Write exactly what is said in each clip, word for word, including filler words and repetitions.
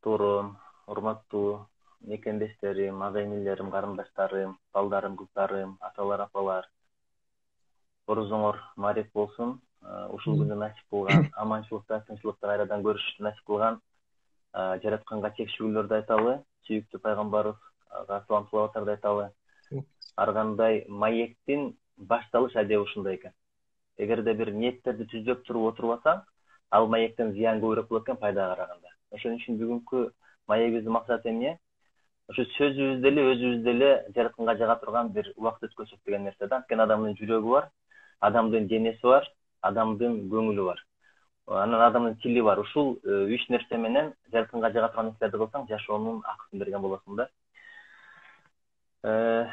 Тоором, урматтуу мекендештерим, ага энелерим, карындаштарым, балдарым, кыздарым, аталар, апалар. Орузуңор маариф болсун. Ушул күндү насип кылган, аманчылыкта, тынччылыкта кайрадан көрүшүштү насип кылган жаратканга чекчүүлөрдү айталы, сүйүктүү пайгамбарыбызга салам салаваттарды айталы. Ар кандай маектин башталыш адеби ушундай экен. Эгерде бир ниеттерди түздөп туруп отурбасаң, ал маектен зыян көбүрөөк болот экен пайдага караганда. Ошон үчүн бүгүнкү маегибиздин максаты эмне? Ошо сөзүбүздө эле, өзүбүздө эле жаратканга жага турган бир убакыт өткөзсөк деген нерсе да. Анткени адамдын жүрөгү бар, адамдын денеси бар, адамдын көңүлү бар. Анан адамдын тили бар. Ушул үч нерсе менен жаратканга жага турган нерселерди кылсаң, жашоонун акысын берген болосуң да.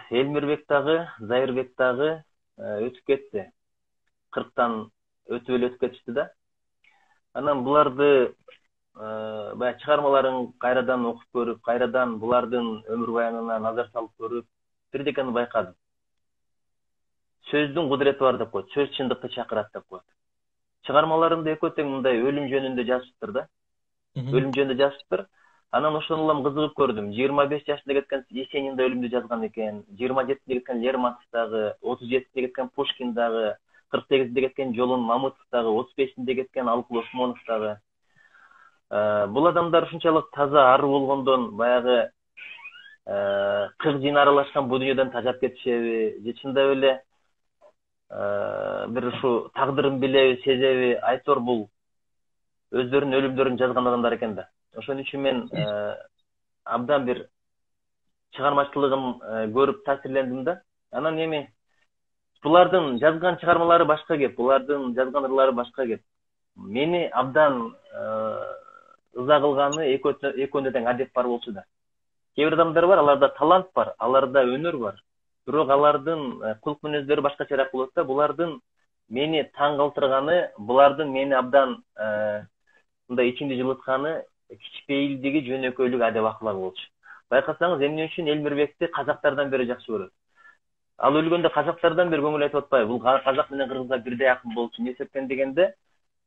Элмирбек дагы, Зайырбек дагы өтүп кетти. кырктан өтүп эле өтүп кетишти да. Анан буларды баягы чыгармаларын кайрадан окуп көрүп, кайрадан булардын өмүр баянына назар салып көрүп, бирдекени байкадым. Сөздүн кудурети бар деп коет, сөз чындыкты чакырат деп коет. Чыгармаларында экөө тең мындай өлүм жөнүндө жазыптыр да. Өлүм жөнүндө жазыптыр. Анан ошону улам кызыгып көрдүм. жыйырма беш жашында кеткен Есенин да өлүмдү жазган экен, жыйырма жетинде кеткен Лермонтов дагы, отуз жетинде кеткен Пушкин дагы, кырк сегизинде кеткен Жолун Мамытов дагы, отуз бешинде кеткен Алыкул Осмонов дагы. Бул адамдар ушунчалык таза ары болгондон баягы кырк жин аралашкан бу дүйнөдөн тажап кетишеби, же чындап эле бир ушу тагдырын билеби, сезеби, айтор бул өздөрүнүн өлүмдөрүн жазган адамдар экен да. Ошон үчүн мен абдан бир чыгармачылыгын көрүп таасирлендим да. Анан эми булардын жазган чыгармалары башка кеп, булардын жазган ырлары башка кеп. Мени абдан ыза кылганы экөөндө тең адеп бар болчу да. Кээ бир адамдар бар, аларда талант бар, аларда өнөр бар. Бирок алардын кылык мүнөздөрү башкачараак болот да. Булардын мени таң калтырганы, булардын мени абдан мындай ичимди жылытканы кичпейилдиги, жөнөкөйлүк, адеп аклагы болчу. Байкасаңыз, эмне үчүн Элмирбекти казактардан бери жакшы көрөт? Ал өлгөндө казактардан бери көңүл айтып атпайбы? Бул казак менен кыргызга бирдей акын болчу. Эмне себептен дегенде,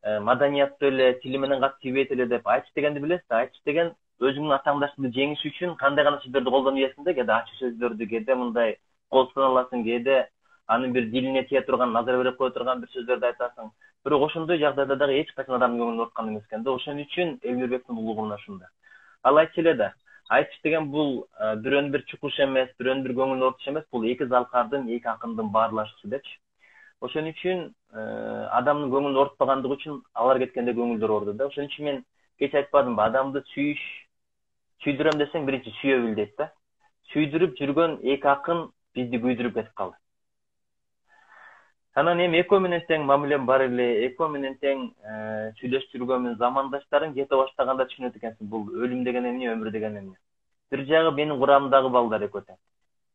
маданияттуу эле, тили менен катты тийбейт эле деп. Айтыш дегенди билесиз да? Айтыш деген өзүңдүн атааңдаштыгыңды жеңиш үчүн кандай гана сөздөрдү колдонуп ийесиң да, кээде ачуу сөздөрдү, кээде мындай кол саналасың, кээде анын бир дилине тие турган, назар берип кое турган бир сөздөрдү айтасың. Бирок ошондой жагдайда дагы эч качан адамдын көңүлүн орткан эмес экен да. Ошон үчүн Элмирбектин улугу мына ушунда. Ал айтчу эле да. Айтыш деген бул бирөөнүн бир чукуш эмес, бирөөнүн бир көңүлүн орутуш эмес, бул эки залкардын, эки акындын баарлашуусу депчи. Ошон үчүн адамдын көңүлүн орутпагандыгы үчүн алар кеткенде көңүлдөр орду да. Ошон үчүн мен кеч айтпадымбы, адамды сүйүш, сүйдүрөм десең биринчи сүйө бил дейт да. Сүйдүрүп жүргөн эки акын бизди күйдүрүп кетип калды. Анан эми экөө менен тең мамилем бар эле, экөө менен тең сүйлөшүп жүргөнмүн, замандаштарың кете баштаганда түшүнөт экенсиң, бул өлүм деген эмне, өмүр деген эмне. Бир жагы менин курамымдагы балдар экөө тең.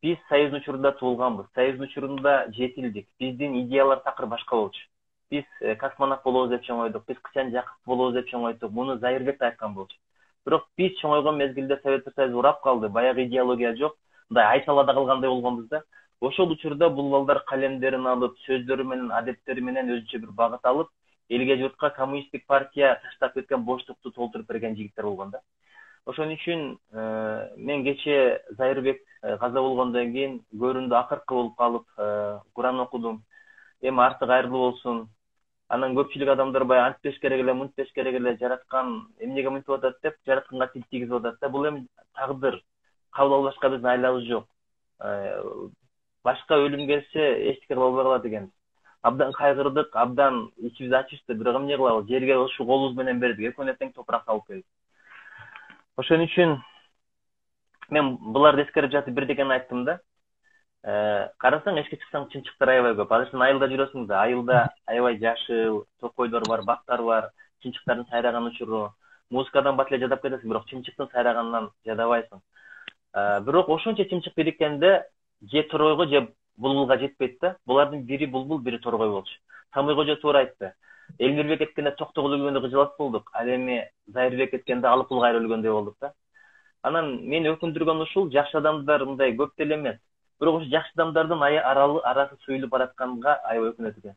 Биз Союздун учурунда туулганбыз, Союздун учурунда жетилдик. Биздин идеялар такыр башка болчу. Биз космонавт болобуз деп чоңойдук, биз Кычан Жакып болобуз деп чоңойдук. Муну Зайырбек да айткан болчу. Бирок биз чоңойгон мезгилде Советтер Союзу урап калды, баягы идеология жок, мындай айталада калгандай болгонбуз да. Ошол учурда бул балдар калемдерин алып, сөздөрү менен, адептери менен өзүнчө бир багыт алып, элге журтка коммунисттик партия таштап кеткен боштукту толтуруп берген жигиттер болгон да. Ошон үчүн мен кечээ Зайырбек каза болгондон кийин көрүндү акыркы болуп калып, Куран окудум. Эми арты кайырлуу болсун. Анан көпчүлүк адамдар баягы антпеш керек эле, мынтпеш керек эле, жараткан эмнеге мынтип атат деп, жаратканга тил тийгизип атат да. Бул эми тагдыр. Кабыл албашка биздин айлабыз жок. Башка өлүм келсе эчтеке кыла албай калат экенбиз. Абдан кайгырдык, абдан ичибиз ачышты, бирок эмне кылабыз? Жерге ушу колубуз менен бердик, экөөнө тең топурак салып келдик. Ошон үчүн мен буларды эскерип жатып бирдекени айттым да. Карасаң, эшикке чыксаң чынчыктар аябай көп. Азыр сен айылда жүрөсүң да, айылда аябай жашыл, токойдор бар, бактар бар, чынчыктардын сайраган учуру. Музыкадан бат эле жадап кетесиң, бирок чынчыктын сайраганынан жадабайсың. Бирок ошончо чынчык бириккенде же торойго же булбулга жетпейт да. Булардын бири булбул, бири торгой болчу. Самый Кожо туура айтты. Элмирбек кеткенде Токтогул өлгөндө кыжалат болдук, ал эми Зайырбек кеткенде Алыкул кайра өлгөндөй болдук да. Анан мени өкүндүргөн ушул, жакшы адамдар мындай көп деле эмес. Бирок ошо жакшы адамдардын арасы суюлуп баратканга аябай өкүнөт экен.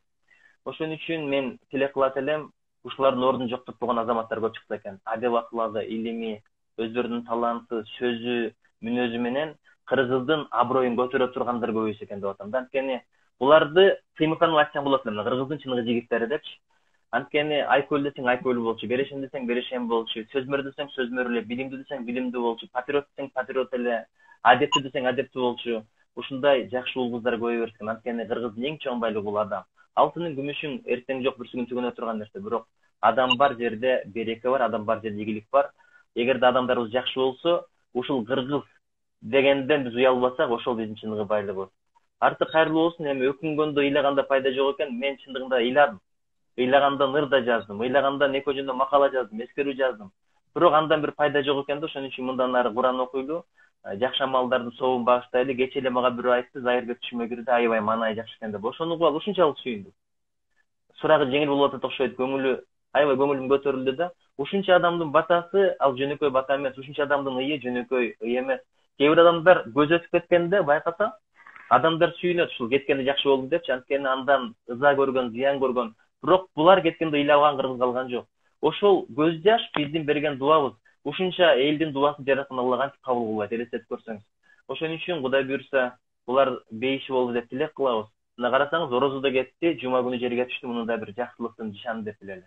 Ошон үчүн мен тилек кылат элем, ушулардын ордун жоктотпогон азаматтар көп чыкса экен. Адеп аклагы, илими, өздөрүнүн таланты, сөзү, мүнөзү менен кыргыздын аброюн көтөрө тургандар көбөйсө экен деп атам да. Анткени буларды Тыймыканов айтсаң болот эле, кыргыздын чыныгы жигиттери депчи. Анткени Айкөл десең Айкөл болчу, Берешем десең Берешем болчу, Сөзмөр десең Сөзмөр эле, Билимдүү десең Билимдүү болчу, Патриот десең Патриот эле, Адептүү десең Адептүү болчу. Ушундай жакшы улбуздар көбөйө берсин. Анткени кыргыздын эң чоң байлыгы бул адам. Алтынын, күмүшүн эртең жок, бүрсү күн төгөнө турган нерсе, бирок адам бар жерде береке бар, адам бар жерде ийгилик бар. Эгерде адамдарыбыз жакшы болсо, ушул кыргыз дегенден биз уялбасак, ошол биздин чыныгы байлыгыбыз. Арты кайрылуу болсун. Эми өкүнгөндө ыйлаганда пайда жок экен. Мен чындыгында ыйладым. Ыйлаганда ныр да жаздым, ыйлаганда эки жөнүндө макала жаздым, эскерүү жаздым. Бирок андан бир пайда жок экен да, ошон үчүн мындан ары Куран окуйлу, жакшы амалдардын сообун багыштайлы. Кечээ эле мага бирөө айтты, Зайырбек түшүмө кирди, аябай маанай жакшы экен деп. Ошону угуп алып ушунчалык сүйүндүм. Сурагы жеңил болуп атат окшойт, көңүлү аябай көңүлүм көтөрүлдү да. Ушунча адамдын батасы ал жөнөкөй бата эмес, ушунча адамдын ыйы жөнөкөй ый эмес. Кээ бир адамдар көз өтүп кеткенде байкаса, адамдар сүйүнөт ушул кеткенде жакшы болду депчи. Анткени андан ыза көргөн, зыян көргөн. Бирок булар кеткенде ыйлаган кыргыз калган жок. Ошол көз жаш биздин берген дуабыз. Ушунча элдин дубасын жараткан Аллах кантип кабыл кылбайт, элестетип көрсөңүз. Ошон үчүн Кудай буйрса, булар бейиши болду деп тилек кылабыз. Мына карасаңыз, орозо да кетти, жума күнү жерге түштү, мунун да бир жакшылыктын нишаны деп билели.